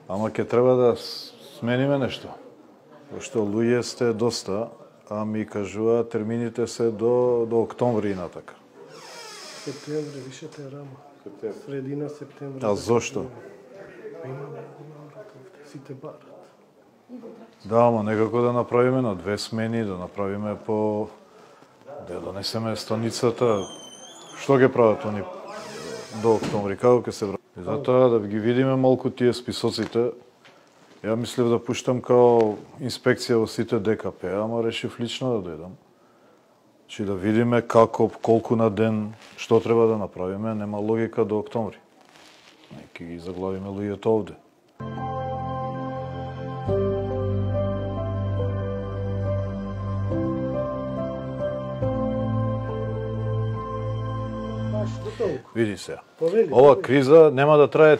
Ама ќе треба да смениме нешто. Пошто луѓе сте доста, а ми кажува термините се до октомври и натака. Септември, вишете рано. Средина септември. А зошто? Имаме сите барат. Да, ама некако да направиме на 2 смени, да направиме по... да донесеме станицата. Што ќе прават они до октомври, како ќе се враќаат? И затоа да ги видиме малку тие списоците. Ја мислев да пуштам као инспекција во сите ДКП, ама решив лично да дојдам. Чи да видиме како, колку на ден, што треба да направиме, нема логика до октомври. Ќе ги заглавиме луѓето овде. Види се. Ова криза нема да трае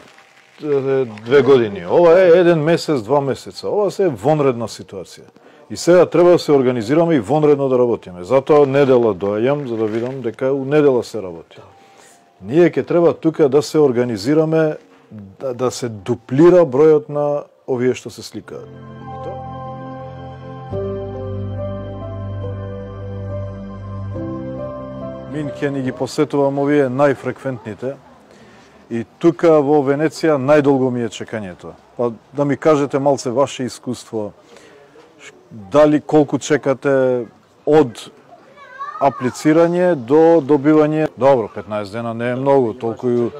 2 години. Ова е 1 месец, 2 месеца. Ова се е вонредна ситуација. И сега треба да се организираме и вонредно да работиме. Затоа недела доаѓам за да видам дека у недела се работи. Ние ќе треба тука да се организираме, да се дуплира бројот на овие што се сликаат. Мин ќе ни ги посетувам овие најфреквентните и тука во Венеција најдолго ми е чекањето. Па да ми кажете малце ваше искуство, дали колку чекате од аплицирање до добивање? Добро, 15 дена не е многу, толку и...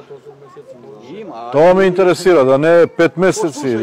Тоа ме интересира, да не е 5 месеци.